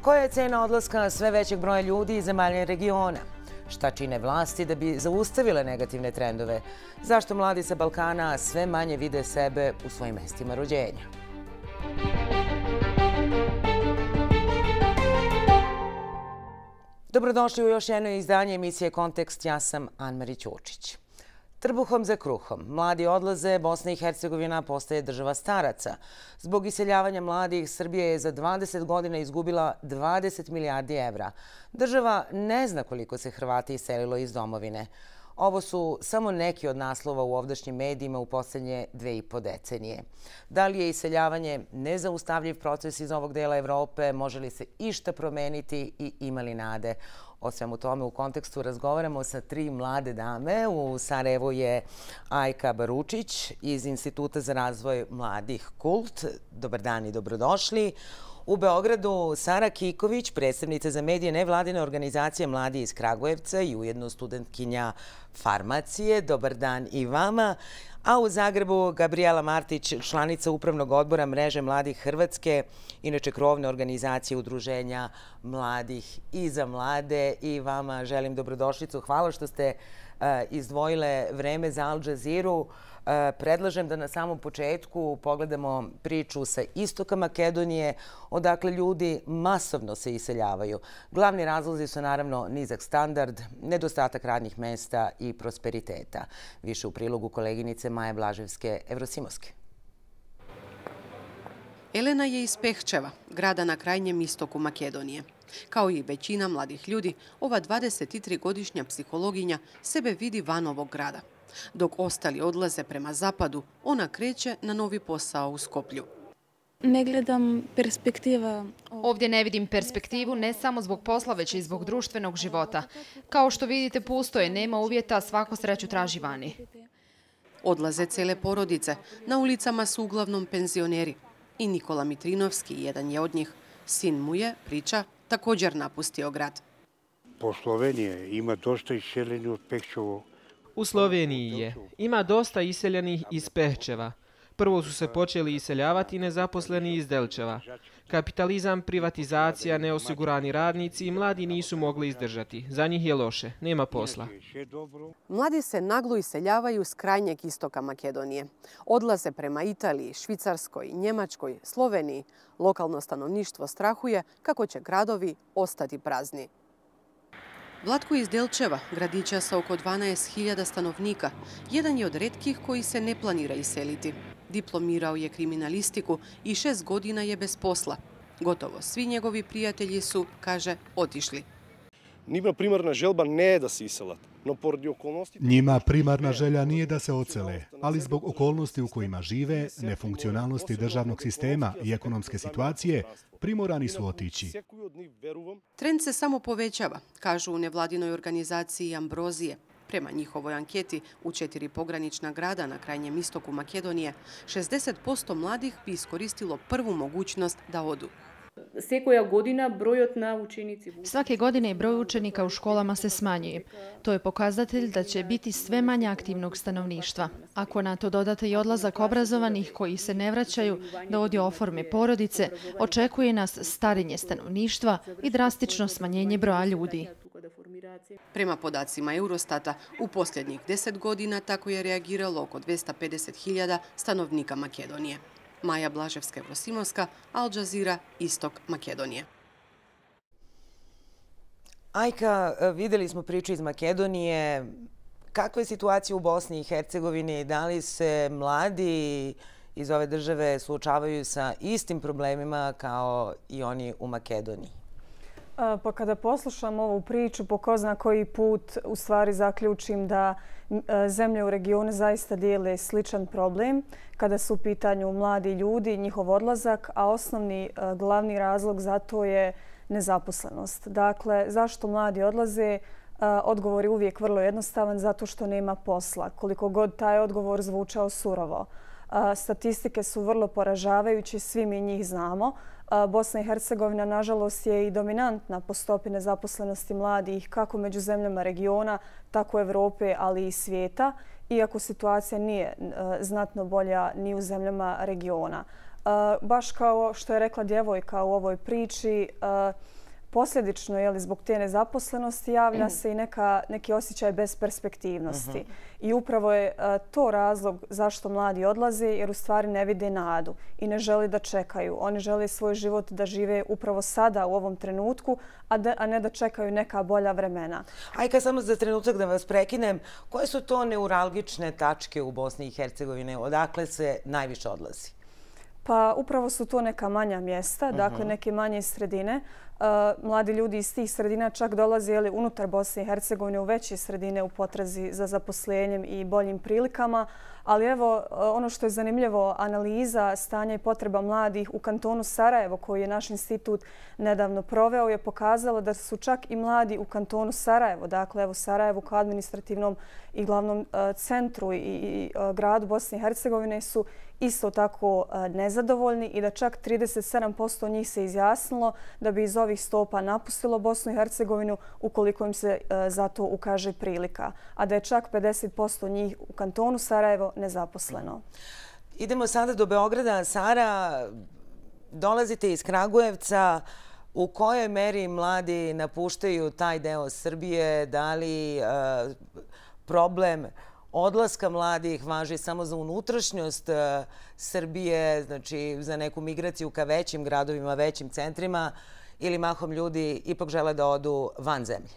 Koja je cena odlaska sve većeg broja ljudi iz zemalja regiona? Šta čine vlasti da bi zaustavile negativne trendove? Zašto mladi sa Balkana sve manje vide sebe u svojim mestima rođenja? Dobrodošli u još jedno izdanje emisije Kontekst. Ja sam Anmari Ćurčić. Trbuhom za kruhom. Mladi odlaze, Bosna i Hercegovina postaje država staraca. Zbog iseljavanja mladih, Srbija je za 20 godina izgubila 20 milijardi evra. Država ne zna koliko se Hrvati iselilo iz domovine. Ovo su samo neki od naslova u ovdašnjim medijima u posljednje 2,5 decenije. Da li je iseljavanje nezaustavljiv proces iz ovog dela Evrope? Može li se išta promeniti i ima li nade? O svemu tome u kontekstu razgovaramo sa 3 mlade dame. U Sarajevu je Ajka Baručić iz Instituta za razvoj mladih KULT. Dobar dan i dobrodošli. U Beogradu Sara Kiković, predstavnica za medije nevladine organizacije Mladi iz Kragujevca i ujedno studentkinja farmacije. Dobar dan i vama. A u Zagrebu Gabriela Martić, članica Upravnog odbora Mreže mladih Hrvatske, inače krovne organizacije udruženja mladih i za mlade. I vama želim dobrodošlicu. Hvala što ste izdvojile vreme za Al Jazeeru. Predlažem da na samom početku pogledamo priču sa istoka Makedonije, odakle ljudi masovno se iseljavaju. Glavni razlozi su naravno nizak standard, nedostatak radnih mesta i prosperiteta. Više u prilogu koleginice Maje Blaževske Evrosimovske. Elena je iz Pehčeva, grada na krajnjem istoku Makedonije. Kao i većina mladih ljudi, ova 23-godišnja psihologinja sebe vidi van ovog grada. Dok ostali odlaze prema zapadu, ona kreće na novi posao u Skoplju. Ne gledam perspektiva. Ovdje ne vidim perspektivu ne samo zbog posla, već i zbog društvenog života. Kao što vidite, pusto je, nema uvjeta, svako sreću traži vani. Odlaze cele porodice. Na ulicama su uglavnom penzioneri. I Nikola Mitrinovski, jedan je od njih. Sin mu je, priča, također napustio grad. Po Sloveniji ima dosta iseljeni od Pehčeva. U Sloveniji je. Ima dosta iseljenih iz Pehčeva. Prvo su se počeli iseljavati nezaposleni iz Delčeva. Kapitalizam, privatizacija, neosigurani radnici i mladi nisu mogli izdržati. Za njih je loše. Nema posla. Mladi se naglo iseljavaju s krajnjeg istoka Makedonije. Odlaze prema Italiji, Švicarskoj, Njemačkoj, Sloveniji. Lokalno stanovništvo strahuje kako će gradovi ostati prazni. Vlatko iz Delčeva, gradića sa oko 12.000 stanovnika, jedan je od retkih koji se ne planira iseliti. Diplomirao je kriminalistiku i 6 godina je bez posla. Gotovo svi njegovi prijatelji su, kaže, otišli. Njima primarna želba ne je da se iselat. Njima primarna želja nije da se ocele, ali zbog okolnosti u kojima žive, nefunkcionalnosti državnog sistema i ekonomske situacije, primorani su otići. Trend se samo povećava, kažu u nevladinoj organizaciji Ambrozije. Prema njihovoj anketi u 4 pogranična grada na krajnjem istoku Makedonije, 60% mladih bi iskoristilo prvu mogućnost da odu. Svake godine broj učenika u školama se smanjuje. To je pokazatelj da će biti sve manje aktivnog stanovništva. Ako na to dodate i odlazak obrazovanih koji se ne vraćaju da ovdje oforme porodice, očekuje nas starenje stanovništva i drastično smanjenje broja ljudi. Prema podacima Eurostata, u posljednjih 10 godina tako je reagiralo oko 250.000 stanovnika Makedonije. Maja Blaževska Evrosimovska, Al Jazeera, istok Makedonije. Ajka, vidjeli smo priču iz Makedonije. Kakva je situacija u Bosni i Hercegovini? Da li se mladi iz ove države suočavaju sa istim problemima kao i oni u Makedoniji? Pa kada poslušam ovu priču, po ko zna koji put u stvari zaključim da zemlje u regionu zaista dijele sličan problem kada su u pitanju mladi ljudi, njihov odlazak, a osnovni glavni razlog za to je nezaposlenost. Dakle, zašto mladi odlaze? Odgovor je uvijek vrlo jednostavan, zato što nema posla. Koliko god taj odgovor zvučao surovo. Statistike su vrlo poražavajuće, svi mi njih znamo. Bosna i Hercegovina, nažalost, je i dominantna po stopi nezaposlenosti mladih kako među zemljama regiona, tako Evrope, ali i svijeta, iako situacija nije znatno bolja ni u zemljama regiona. Baš kao što je rekla djevojka u ovoj priči, posljedično zbog te nezaposlenosti javlja se i neki osjećaj besperspektivnosti. I upravo je to razlog zašto mladi odlaze, jer u stvari ne vide nadu i ne žele da čekaju. Oni žele svoj život da žive upravo sada u ovom trenutku, a ne da čekaju neka bolja vremena. Ajka, samo za trenutak da vas prekinem. Koje su to neuralgične tačke u Bosni i Hercegovini? Odakle se najviše odlazi? Pa upravo su to neka manja mjesta, dakle neke manje sredine. Mladi ljudi iz tih sredina čak dolaze unutar Bosne i Hercegovine u veće sredine u potrazi za zaposlenjem i boljim prilikama. Ali evo, ono što je zanimljivo, analiza stanja i potreba mladih u kantonu Sarajevo, koji je naš institut nedavno proveo, je pokazala da su čak i mladi u kantonu Sarajevo, dakle evo Sarajevo kao administrativnom i glavnom centru i gradu Bosne i Hercegovine, su isto tako nezadovoljni i da čak 37% njih se izjasnilo da bi iz ovih stopa napustilo Bosnu i Hercegovinu ukoliko im se za to ukaže prilika, a da je čak 50% njih u kantonu Sarajevo nezaposleno. Idemo sada do Beograda. Sara, dolazite iz Kragujevca. U kojoj meri mladi napuštaju taj deo Srbije? Da li problem odlaska mladih važi samo za unutrašnjost Srbije, znači za neku migraciju ka većim gradovima, većim centrima, ili mahom ljudi ipak žele da odu van zemlje?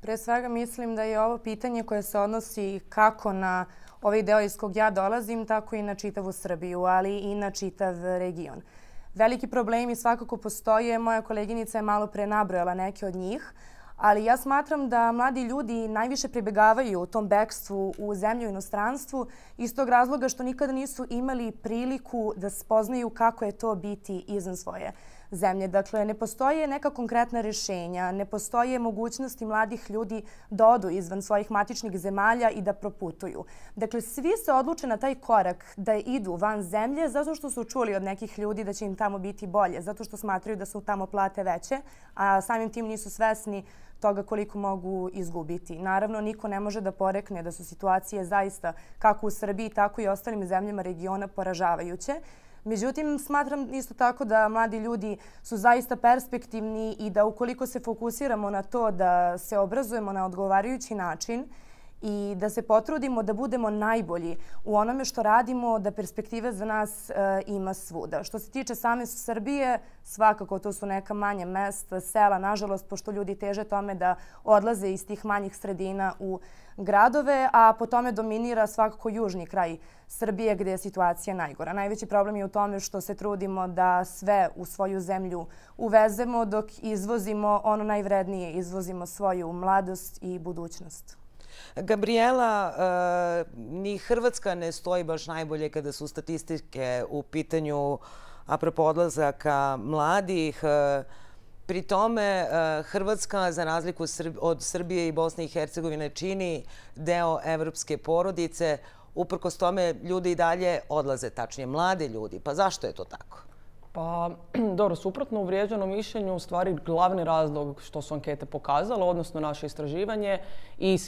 Pre svega mislim da je ovo pitanje koje se odnosi kako na ovaj deo iz kog ja dolazim, tako i na čitavu Srbiju, ali i na čitav region. Veliki problemi svakako postoje. Moja koleginica je malo pre nabrojala neke od njih, ali ja smatram da mladi ljudi najviše pribegavaju u tom bekstvu u zemlju i inostranstvu iz tog razloga što nikada nisu imali priliku da spoznaju kako je to biti izvan svoje zemlje. Dakle, ne postoje neka konkretna rješenja, ne postoje mogućnosti mladih ljudi da odu izvan svojih matičnih zemalja i da proputuju. Dakle, svi se odluče na taj korak da idu van zemlje zato što su čuli od nekih ljudi da će im tamo biti bolje, zato što smatraju da su tamo plate veće, a samim tim nisu svesni toga koliko mogu izgubiti. Naravno, niko ne može da porekne da su situacije zaista kako u Srbiji, tako i ostalim zemljama regiona poražavajuće. Međutim, smatram isto tako da mladi ljudi su zaista perspektivni i da ukoliko se fokusiramo na to da se obrazujemo na odgovarajući način i da se potrudimo da budemo najbolji u onome što radimo, da perspektive za nas ima svuda. Što se tiče same Srbije, svakako to su neka manja mesta, sela, nažalost, pošto ljudi teže tome da odlaze iz tih manjih sredina u gradove, a po tome dominira svakako južni kraj Srbije gdje je situacija najgora. Najveći problem je u tome što se trudimo da sve u svoju zemlju uvezemo dok izvozimo ono najvrednije, izvozimo svoju mladost i budućnost. Gabriela, ni Hrvatska ne stoji baš najbolje kada su statistike u pitanju apropo odlazaka mladih. Pri tome Hrvatska, za razliku od Srbije i Bosne i Hercegovine, čini deo evropske porodice. Uprkos tome ljudi i dalje odlaze, tačnije mladi ljudi. Pa zašto je to tako? Pa, dobro, suprotno uvrijeđenom mišljenju, u stvari glavni razlog što su ankete pokazale, odnosno naše istraživanje i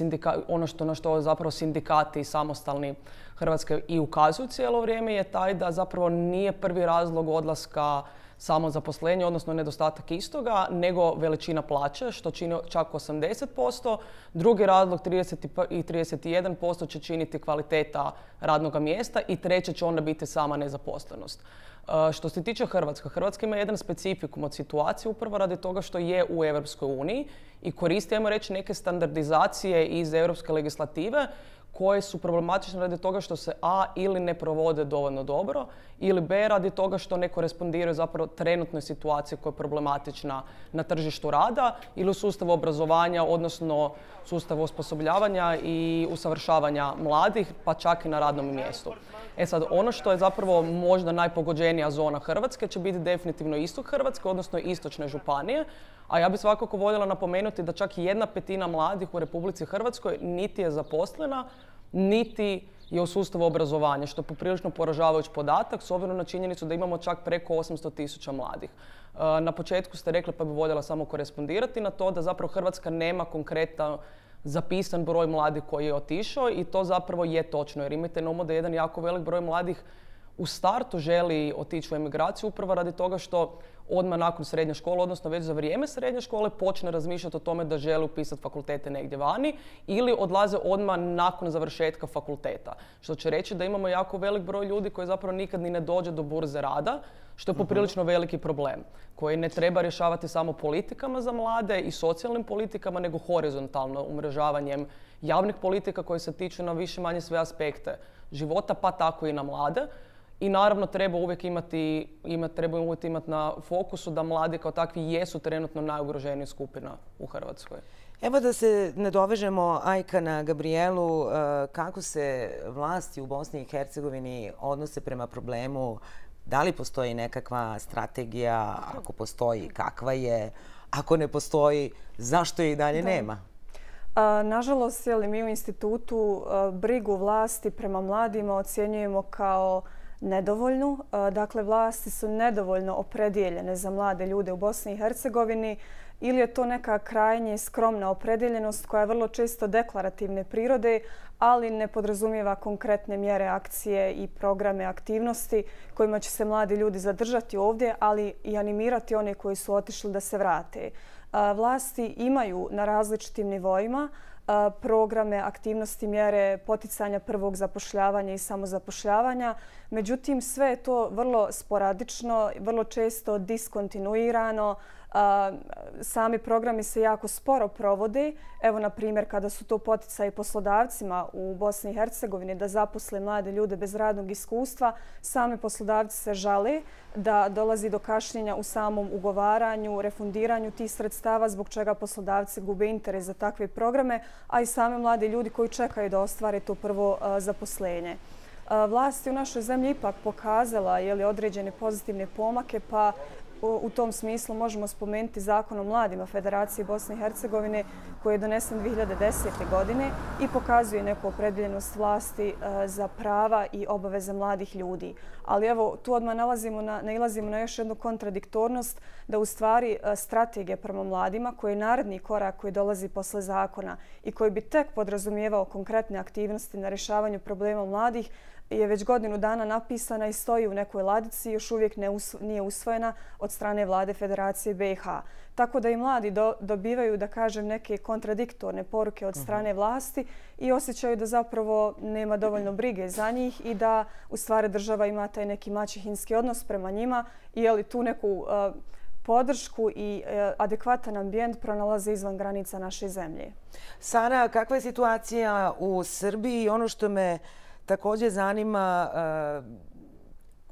ono na što zapravo sindikati samostalni Hrvatske i ukazuju cijelo vrijeme, je taj da zapravo nije prvi razlog odlaska samo zaposlenje, odnosno nedostatak istoga, nego veličina plaće, što čini čak 80%. Drugi razlog, 31% će činiti kvaliteta radnog mjesta i treće će onda biti sama nezaposlenost. Što se tiče Hrvatske, Hrvatska ima jedan specifikum od situacije upravo radi toga što je u Europskoj uniji i koristi, ajmo reći, neke standardizacije iz europske legislative koje su problematične radi toga što se A, ili ne provode dovoljno dobro, ili B, radi toga što ne korespondiraju zapravo trenutnoj situaciji koja je problematična na tržištu rada ili u sustavu obrazovanja, odnosno sustavu osposobljavanja i usavršavanja mladih, pa čak i na radnom mjestu. Sad, ono što je zapravo možda najpogođenija zona Hrvatske će biti definitivno istok Hrvatske, odnosno istočne županije. A ja bih svakako voljela napomenuti da čak 1/5 mladih u Republici Hrvatskoj niti je zaposlena, niti je u sustavu obrazovanja, što je poprilično poražavajući podatak s obzirom na činjenicu da imamo čak preko 800.000 mladih. Na početku ste rekli, pa bih voljela samo korespondirati na to, da zapravo Hrvatska nema konkretan zapisan broj mladih koji je otišao i to zapravo je točno, jer imajte na umu da jedan jako velik broj mladih u startu želi otići u emigraciju upravo radi toga što odmah nakon srednje škole, odnosno već za vrijeme srednje škole, počne razmišljati o tome da žele upisati fakultete negdje vani ili odlaze odmah nakon završetka fakulteta. Što će reći da imamo jako velik broj ljudi koji zapravo nikad ni ne dođe do burze rada, što je poprilično veliki problem koji ne treba rješavati samo politikama za mlade i socijalnim politikama, nego horizontalno umrežavanjem javnih politika koje se tiču na više manje sve aspekte života, pa tako i na mlade. I naravno treba uvijek imati na fokusu da mladi kao takvi jesu trenutno najugroženija skupina u Hrvatskoj. Evo da se nadovežemo, Ajka, na Gabrijelu. Kako se vlasti u Bosni i Hercegovini odnose prema problemu? Da li postoji nekakva strategija? Ako postoji, kakva je? Ako ne postoji, zašto je i dalje nema? Nažalost, mi u institutu brigu vlasti prema mladima ocjenjujemo kao nedovoljnu. Dakle, vlasti su nedovoljno opredjeljene za mlade ljude u Bosni i Hercegovini ili je to neka krajnje skromna opredjeljenost koja je vrlo često deklarativne prirode, ali ne podrazumijeva konkretne mjere, akcije i programe aktivnosti kojima će se mladi ljudi zadržati ovdje, ali i animirati one koji su otišli da se vrate. Vlasti imaju na različitim nivoima programe, aktivnosti, mjere poticanja prvog zapošljavanja i samozapošljavanja. Međutim, sve je to vrlo sporadično, vrlo često diskontinuirano. Sami programi se jako sporo provode. Evo, na primjer, kada su to poticaji poslodavcima u Bosni i Hercegovini da zaposle mlade ljude bez radnog iskustva, sami poslodavci se žale da dolazi do kašnjenja u samom ugovaranju, refundiranju tih sredstava, zbog čega poslodavci gube interes za takve programe, a i sami mladi ljudi koji čekaju da ostvare to prvo zaposlenje. Vlasti u našoj zemlji ipak pokazala određene pozitivne pomake, pa u tom smislu možemo spomenuti Zakon o mladima Federacije Bosne i Hercegovine koji je donesen 2010. godine i pokazuje neku opredjeljenost vlasti za prava i obaveze mladih ljudi. Ali evo, tu odmah nailazimo na još jednu kontradiktornost da u stvari strategija prema mladima koji je naredni korak koji dolazi posle zakona i koji bi tek podrazumijevao konkretne aktivnosti na rješavanju problema mladih je već godinu dana napisana i stoji u nekoj ladici i još uvijek nije usvojena od strane Vlade Federacije BiH. Tako da i mladi dobivaju, da kažem, neke kontradiktorne poruke od strane vlasti i osjećaju da zapravo nema dovoljno brige za njih i da u stvari država ima taj neki maćehinski odnos prema njima i tu neku podršku i adekvatan ambijent pronalaze izvan granica naše zemlje. Sara, kakva je situacija u Srbiji? Ono što me također zanima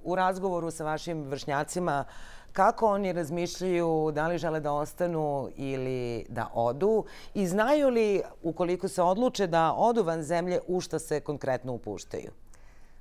u razgovoru sa vašim vršnjacima, kako oni razmišljaju, da li žele da ostanu ili da odu i znaju li, ukoliko se odluče da odu van zemlje, u što se konkretno upuštaju?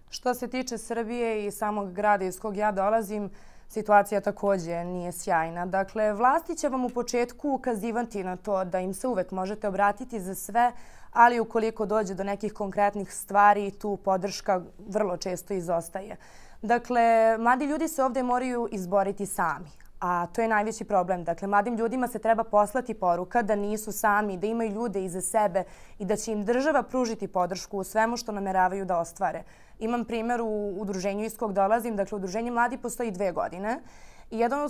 Što se tiče Srbije i samog grada iz kog ja dolazim, situacija također nije sjajna. Dakle, vlasti će vam u početku ukazivati na to da im se uvek možete obratiti za sve, ali ukoliko dođe do nekih konkretnih stvari, tu podrška vrlo često izostaje. Dakle, mladi ljudi se ovdje moraju izboriti sami, a to je najveći problem. Dakle, mladim ljudima se treba poslati poruka da nisu sami, da imaju ljude iza sebe i da će im država pružiti podršku u svemu što nameravaju da ostvare. Imam primjer u udruženju iz kog dolazim. Dakle, udruženje Mladi postoji 2 godine. I jedna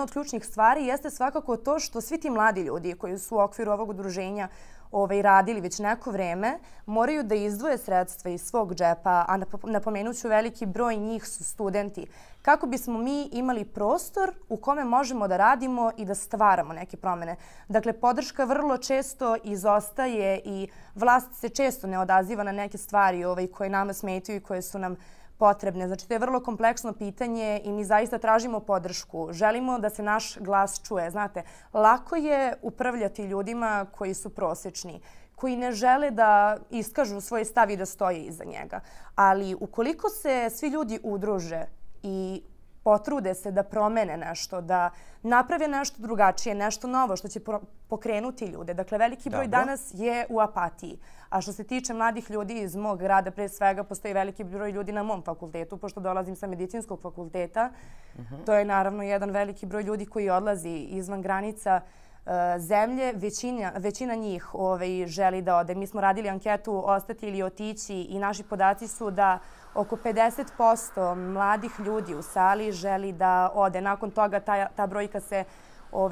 od ključnih stvari jeste svakako to što svi ti mladi ljudi koji su u okviru ovog udruženja radili već neko vreme, moraju da izdvoje sredstva iz svog džepa, a napomenut ću veliki broj njih su studenti, kako bismo mi imali prostor u kome možemo da radimo i da stvaramo neke promjene. Dakle, podrška vrlo često izostaje i vlast se često ne odaziva na neke stvari koje nama smetaju i koje su nam potrebne. Znači, to je vrlo kompleksno pitanje i mi zaista tražimo podršku. Želimo da se naš glas čuje. Znate, lako je upravljati ljudima koji su prosječni, koji ne žele da iskažu svoj stav i da stoje iza njega. Ali ukoliko se svi ljudi udruže i potrude se da promene nešto, da naprave nešto drugačije, nešto novo što će pokrenuti ljude. Dakle, veliki broj danas je u apatiji. A što se tiče mladih ljudi iz mog grada, pre svega postoji veliki broj ljudi na mom fakultetu, pošto dolazim sa medicinskog fakulteta. To je naravno jedan veliki broj ljudi koji odlazi izvan granica zemlje. Većina njih želi da ode. Mi smo radili anketu ostati ili otići i naši podaci su da oko 50% mladih ljudi u sali želi da ode. Nakon toga ta brojka se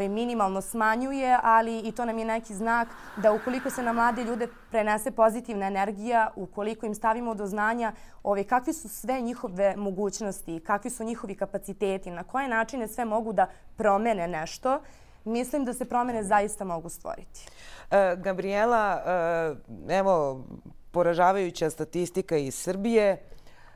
minimalno smanjuje, ali i to nam je neki znak da ukoliko se na mlade ljude prenese pozitivna energija, ukoliko im stavimo do znanja kakvi su sve njihove mogućnosti, kakvi su njihovi kapaciteti, na koje načine sve mogu da promene nešto, mislim da se promene zaista mogu stvoriti. Gabriela, evo, poražavajuća statistika iz Srbije.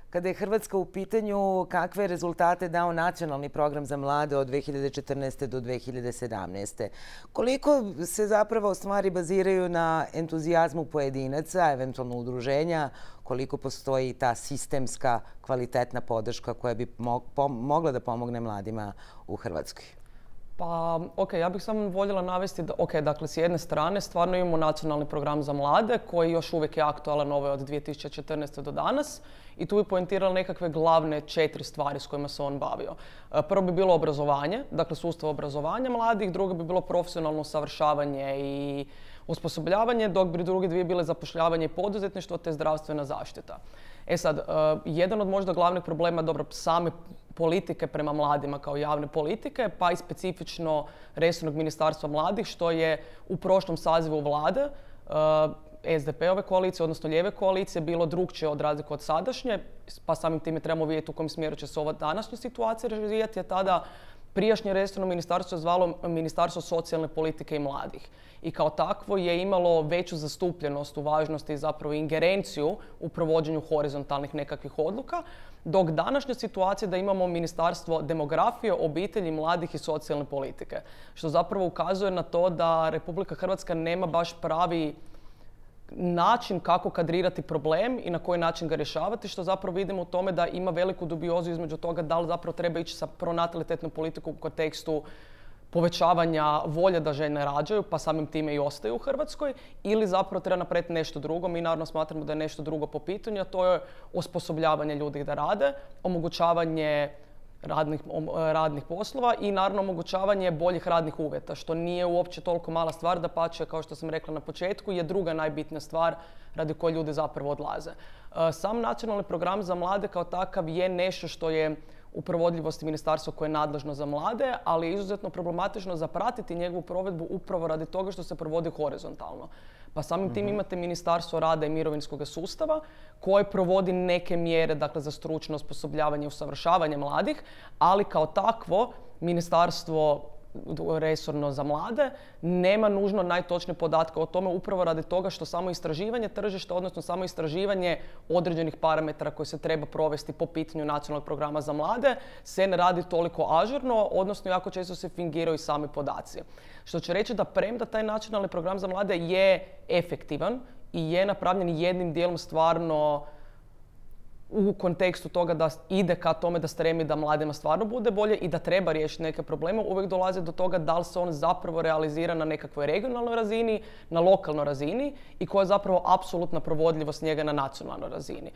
Kada je Hrvatska u pitanju, kakve rezultate dao nacionalni program za mlade od 2014. do 2017. Koliko se zapravo stvari baziraju na entuzijazmu pojedinaca, eventualno udruženja, koliko postoji ta sistemska kvalitetna podrška koja bi mogla da pomogne mladima u Hrvatskoj? Pa, ja bih samo voljela navesti da, dakle, s jedne strane stvarno imamo nacionalni program za mlade koji još uvijek je aktualan od 2014. do danas i tu bi poentirala nekakve glavne 4 stvari s kojima se on bavio. Prvo bi bilo obrazovanje, dakle sustav obrazovanja mladih, drugo bi bilo profesionalno usavršavanje i osposobljavanje, dok bi druge dvije bile zapošljavanje i poduzetništvo te zdravstvena zaštita. Sad, jedan od možda glavnih problema, same politike prema mladima kao javne politike, pa i specifično resornog ministarstva mladih, što je u prošlom sazivu vlade SDP-ove koalicije, odnosno lijeve koalicije, bilo drukčije od razlike od sadašnje, pa samim time trebamo vidjeti u kojem smjeru će se ova današnja situacija razvijati, je tada prijašnje resorno ministarstvo je zvalo Ministarstvo socijalne politike i mladih. I kao takvo je imalo veću zastupljenost u važnosti, zapravo ingerenciju u provođenju horizontalnih nekakvih odluka, dok današnja situacija da imamo Ministarstvo demografije, obitelji, mladih i socijalne politike. Što zapravo ukazuje na to da Republika Hrvatska nema baš pravi način kako kadrirati problem i na koji način ga rješavati, što zapravo vidimo u tome da ima veliku dubiozu između toga da li zapravo treba ići sa pronatalitetnom politikom u kontekstu povećavanja volje da žene rađaju, pa samim time i ostaju u Hrvatskoj, ili zapravo treba napraviti nešto drugo. Mi naravno smatramo da je nešto drugo po pitanju, a to je osposobljavanje ljudi da rade, omogućavanje radnih poslova i naravno omogućavanje boljih radnih uvjeta, što nije uopće toliko mala stvar, dapače, kao što sam rekla na početku, je druga najbitnija stvar radi koje ljudi zapravo odlaze. Sam nacionalni program za mlade kao takav je nešto što je u provodljivosti ministarstva koje je nadležno za mlade, ali je izuzetno problematično zapratiti njegovu provedbu upravo radi toga što se provodi horizontalno. Pa samim tim imate Ministarstvo rada i mirovinskog sustava koje provodi neke mjere, dakle, za stručno osposobljavanje i usavršavanje mladih, ali kao takvo Ministarstvo resorno za mlade nema nužno najtočnije podatke o tome upravo radi toga što samo istraživanje tržišta, odnosno samo istraživanje određenih parametara koje se treba provesti po pitanju nacionalnog programa za mlade se ne radi toliko ažurno, odnosno jako često se fingiraju i sami podaci. Što će reći da premda taj nacionalni program za mlade je efektivan i je napravljen jednim dijelom stvarno u kontekstu toga da ide ka tome da stremi da mladima stvarno bude bolje i da treba riješiti neke probleme, uvijek dolazi do toga da li se on zapravo realizira na nekakvoj regionalnoj razini, na lokalnoj razini i koja je zapravo apsolutna provodljivost njega na nacionalnoj razini.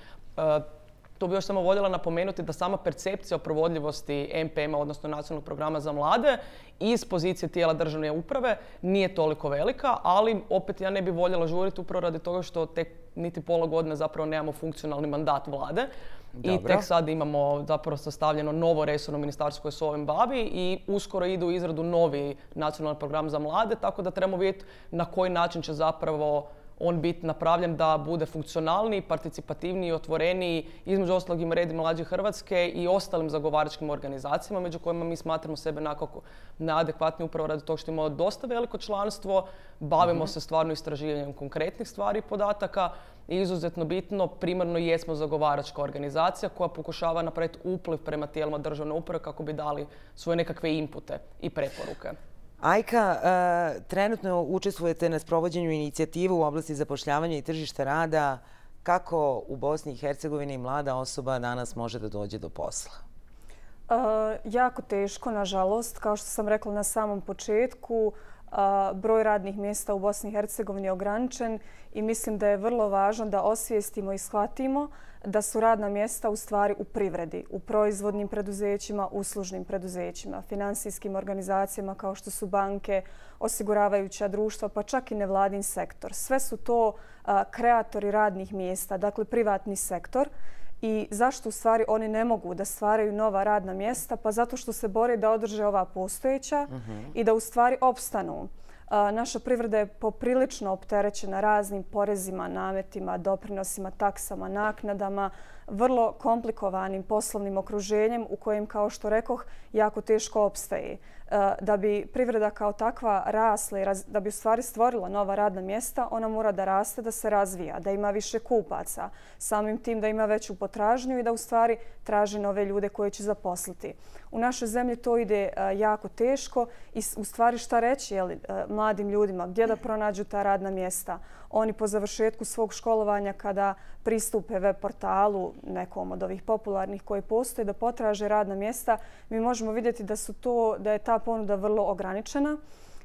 Tu bi još samo voljela napomenuti da sama percepcija o provodljivosti NPM-a, odnosno nacionalnog programa za mlade, iz pozicije tijela državne uprave nije toliko velika, ali opet ja ne bi voljela žuriti upravo radi toga što tek niti pola godine zapravo nemamo funkcionalni mandat vlade. Dobro. I tek sad imamo zapravo sastavljeno novo resorno ministarstvo koje se ovim bavi i uskoro idu u izradu novi nacionalni program za mlade, tako da trebamo vidjeti na koji način će zapravo on biti napravljen da bude funkcionalniji, participativniji, otvoreniji, između ostalog i Mredi mlađe Hrvatske i ostalim zagovaračkim organizacijama, među kojima mi smatramo sebe nekako neadekvatni upravo radi toga što imamo dosta veliko članstvo, bavimo se stvarno istraživanjem konkretnih stvari i podataka i izuzetno bitno, primarno jesmo zagovaračka organizacija koja pokušava napraviti upliv prema tijelima državne uprave kako bi dali svoje nekakve inpute i preporuke. Ajka, trenutno učestvujete na sprovođenju inicijative u oblasti zapošljavanja i tržišta rada. Kako u Bosni i Hercegovini mlada osoba danas može da dođe do posla? Jako teško, nažalost. Kao što sam rekla na samom početku, broj radnih mjesta u Bosni i Hercegovini je ograničen i mislim da je vrlo važno da osvijestimo i shvatimo da su radna mjesta u stvari u privredi, u proizvodnim preduzećima, uslužnim preduzećima, finansijskim organizacijama kao što su banke, osiguravajuća društva, pa čak i nevladin sektor. Sve su to kreatori radnih mjesta, dakle privatni sektor. I zašto u stvari oni ne mogu da stvaraju nova radna mjesta? Pa zato što se bore da održe ova postojeća i da u stvari opstanu. Naša privreda je poprilično opterećena raznim porezima, nametima, doprinosima, taksama, naknadama, vrlo komplikovanim poslovnim okruženjem u kojem, kao što rekoh, jako teško opstaje. Da bi privreda kao takva rasla i da bi u stvari stvorila nova radna mjesta, ona mora da raste, da se razvija, da ima više kupaca, samim tim da ima veću potražnju i da u stvari traži nove ljude koje će zaposliti. U našoj zemlji to ide jako teško i u stvari šta reći mladim ljudima, gdje da pronađu ta radna mjesta. Oni po završetku svog školovanja kada pristupe web portalu nekom od ovih popularnih koji postoje da potraže radna mjesta, mi možemo vidjeti da je ta ponuda vrlo ograničena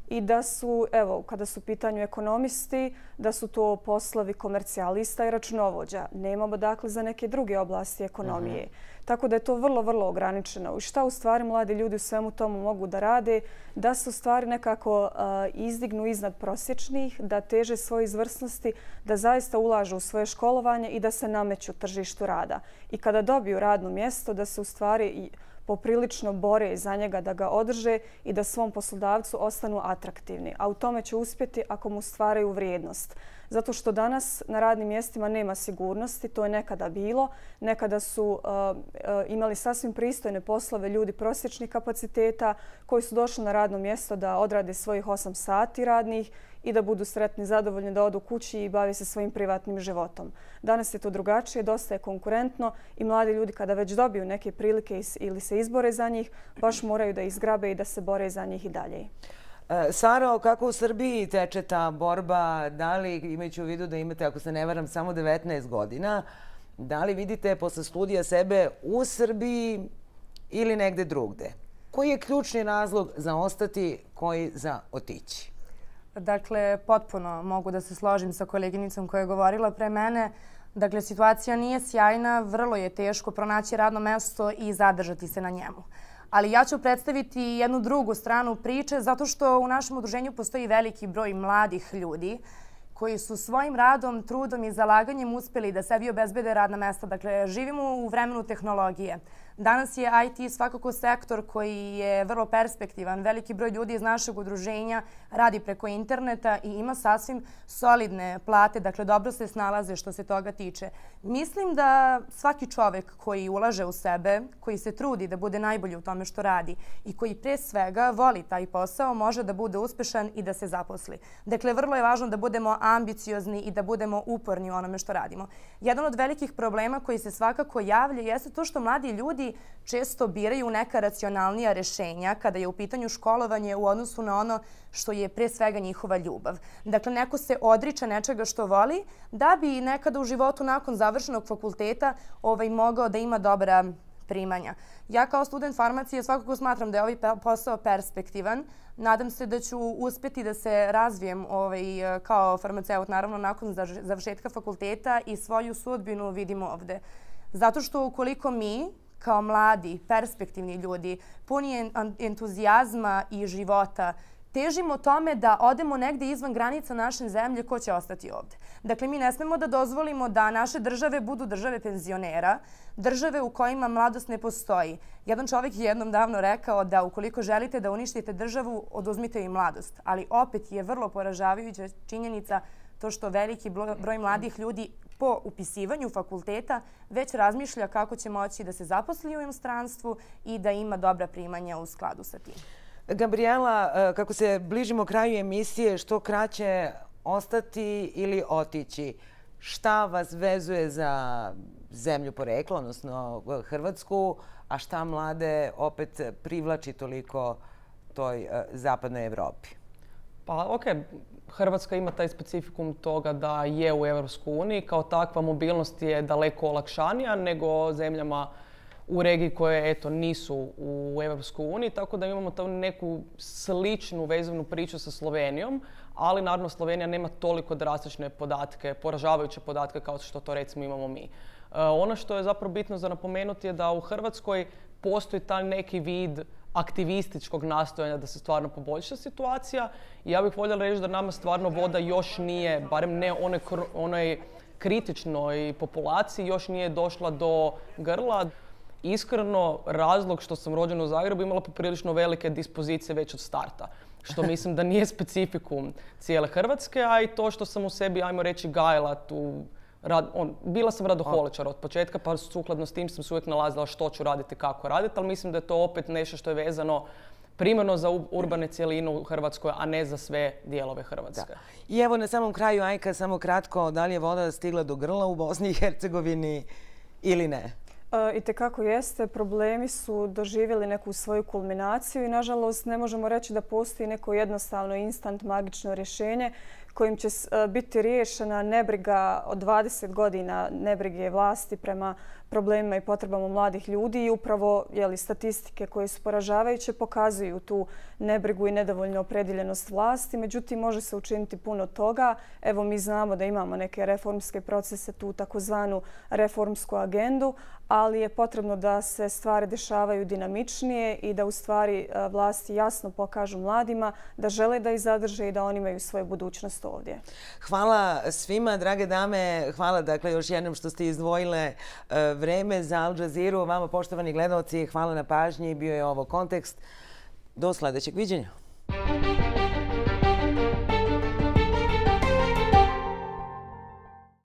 i da su, evo, kada su u pitanju ekonomisti, da su to poslovi komercijalista i računovođa. Nemamo dakle za neke druge oblasti ekonomije. Tako da je to vrlo, vrlo ograničeno. I šta u stvari mladi ljudi u svemu tomu mogu da rade? Da se u stvari nekako izdignu iznad prosječnih, da teže svoje izvrsnosti, da zaista ulažu u svoje školovanje i da se nameću tržištu rada. I kada dobiju radno mjesto, da se u stvari poprilično bore za njega, da ga održe i da svom poslodavcu ostanu atraktivni. A u tome će uspjeti ako mu stvaraju vrijednost. Zato što danas na radnim mjestima nema sigurnosti, to je nekada bilo. Nekada su imali sasvim pristojne poslove ljudi prosječnih kapaciteta koji su došli na radno mjesto da odrade svojih 8 sati radnih i da budu sretni, zadovoljni, da odu kući i bave se svojim privatnim životom. Danas je to drugačije, dosta je konkurentno i mladi ljudi kada već dobiju neke prilike ili se izbore za njih, baš moraju da izgrabe i da se bore za njih i dalje. Saro, kako u Srbiji teče ta borba? Da li, imajući u vidu da imate, ako se ne varam, samo 19 godina, da li vidite posle studija sebe u Srbiji ili negde drugde? Koji je ključni razlog za ostati, koji za otići? Dakle, potpuno mogu da se složim sa koleginicom koja je govorila pre mene. Dakle, situacija nije sjajna, vrlo je teško pronaći radno mesto i zadržati se na njemu. Ali ja ću predstaviti jednu drugu stranu priče zato što u našem udruženju postoji veliki broj mladih ljudi koji su svojim radom, trudom i zalaganjem uspjeli da sebi obezbede radna mesta. Dakle, živimo u vremenu tehnologije. Danas je IT svakako sektor koji je vrlo perspektivan. Veliki broj ljudi iz našeg udruženja radi preko interneta i ima sasvim solidne plate. Dakle, dobro se snalaze što se toga tiče. Mislim da svaki čovjek koji ulaže u sebe, koji se trudi da bude najbolji u tome što radi i koji pre svega voli taj posao, može da bude uspešan i da se zaposli. Dakle, vrlo je važno da budemo ambiciozni i da budemo uporni u onome što radimo. Jedan od velikih problema koji se svakako javlja jeste to što mladi ljudi često biraju neka racionalnija rješenja kada je u pitanju školovanje u odnosu na ono što je pre svega njihova ljubav. Dakle, neko se odriče nečega što voli da bi nekada u životu nakon završenog fakulteta mogao da ima dobra primanja. Ja kao student farmacije svakako smatram da je ovaj posao perspektivan. Nadam se da ću uspjeti da se razvijem kao farmaceut, naravno nakon završetka fakulteta i svoju sudbinu vidimo ovde. Zato što ukoliko mi, kao mladi, perspektivni ljudi, puni entuzijazma i života, težimo tome da odemo negdje izvan granica naše zemlje, ko će ostati ovdje. Dakle, mi ne smemo da dozvolimo da naše države budu države penzionera, države u kojima mladost ne postoji. Jedan čovjek je jednom davno rekao da ukoliko želite da uništite državu, oduzmite im mladost. Ali opet je vrlo poražavajuća činjenica to što veliki broj mladih ljudi po upisivanju fakulteta već razmišlja kako će moći da se zaposli u inostranstvu i da ima dobra primanja u skladu sa tim. Gabriela, kako se bližimo kraju emisije, što kraće ostati ili otići? Šta vas vezuje za zemlju porekla, odnosno Hrvatsku, a šta mlade opet privlači toliko toj zapadnoj Evropi? Pa okej. Hrvatska ima taj specifikum toga da je u Europskoj uniji. Kao takva mobilnost je daleko olakšanija nego zemljama u regiji koje nisu u Europskoj uniji. Tako da imamo tu neku sličnu vezivnu priču sa Slovenijom, ali naravno Slovenija nema toliko drastične podatke, poražavajuće podatke kao što to recimo imamo mi. Ono što je zapravo bitno za napomenuti je da u Hrvatskoj postoji taj neki vid aktivističkog nastojanja da se stvarno poboljša situacija. I ja bih voljela reći da nama stvarno voda još nije, barem ne onoj kritičnoj populaciji još nije došla do grla. Iskreno, razlog što sam rođena u Zagrebu imala poprilično velike dispozicije već od starta. Što mislim da nije specifikum cijele Hrvatske, a i to što sam u sebi, ajmo reći, gajila tu. Bila sam radoholičar od početka, pa sukladno s tim sam se uvijek nalazila što ću raditi, kako raditi, ali mislim da je to opet nešto što je vezano primarno za urbane cjeline u Hrvatskoj, a ne za sve dijelove Hrvatske. I evo na samom kraju, Ajka, samo kratko, da li je voda stigla do grla u Bosni i Hercegovini ili ne? Itekako jeste. Problemi su doživjeli neku svoju kulminaciju i nažalost ne možemo reći da postoji neko jednostavno instant magično rješenje kojim će biti riješena nebriga od 20 godina nebrige vlasti prema problemima i potrebama mladih ljudi i upravo statistike koje su poražavajuće pokazuju tu nebrigu i nedovoljnu opredjeljenost vlasti. Međutim, može se učiniti puno toga. Evo, mi znamo da imamo neke reformske procese, tu takozvanu reformsku agendu, ali je potrebno da se stvari dešavaju dinamičnije i da u stvari vlasti jasno pokažu mladima da žele da ih zadrže i da oni imaju svoju budućnost ovdje. Hvala svima, drage dame. Hvala dakle još jednom što ste izdvojile vreme za Al Jazeeru. Vama, poštovani gledalci, hvala na pažnji. Bio je ovo Kontekst. Do sljedećeg viđenja.